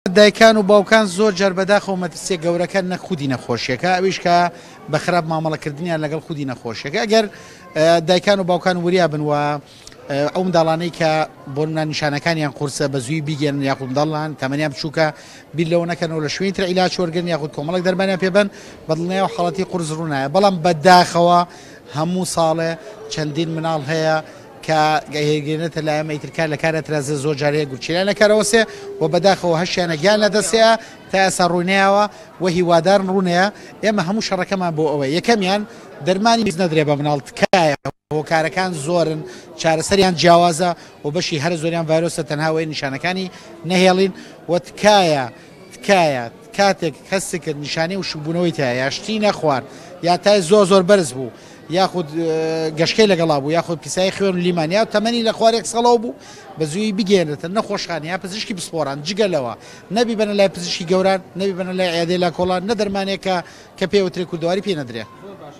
دایکان و باوکان زۆر جار بەداخەوە مەترسیە گەورەکە نەک خودی نەخۆشیەکە ئەویش کە بە خراپ مامەڵەکردنیان لەگەڵ خودی نەخۆشیەکە ئەگەر دایکان و باوکان وریا بن و ئەو منداڵانەی کە بۆ نمونە نیشانەکانیان قورسە بە زووی بیگەن یاخود منداڵان تەمەنیان بچووکە بیر لەوە نەکەنەوە لە شوێنی تر عیلاج وەرگن یاخود کۆمەڵێک دەرمانیان پێ بەن بەدڵنیایەوە حاڵەتی قورس ڕوونایە بەڵام بەداخەوە هەموو ساڵێ چەندین مناڵ هەیە کە گەیەنێتە لای ئێمە ئیتر کار لە کار ئەترازێ زۆر جار هەیە گورچیلەیان لە کار ئەوەسێ و بەداخەوە هەشیانە گیان لە دەسێە تا ئێستا ڕووینەیاوە و هیوادارن ڕوونەیە ئێمە هەموو شەڕەکەمان بۆ ئەوەیە یەکەمیان دەرمانی نەدرێ بە مناڵ تکایە هۆکارەکان زۆرن چارەسەریان جیاوازە و بەشی هەرە زۆریان ڤایرۆسە تەنها وەی نیشانەکانی نەهێڵین و تکایە تکایە کاتێک هەست کرد نیشانەی وشکبوونەوەی تایە یا شتی نەخوارد یا تای زۆر زۆر بەرز بوو یاخود گەشکەی لەگەڵا بوو یاخود پیسایی خوێن و لیمان یا تەمەنی لە خوار یەک ساڵەوە بوو بە زوویی بگەیەنرێتە نەخۆشخانە یا پزیشکی پسپۆران جگە لەوە نەبیبەنە لای پزیشکی گەوران نەبیبەنە لای عیادەی لاکۆڵان نە دەرمانێک کە کە پێ وترێ کوردەواری پێ نەدرێ.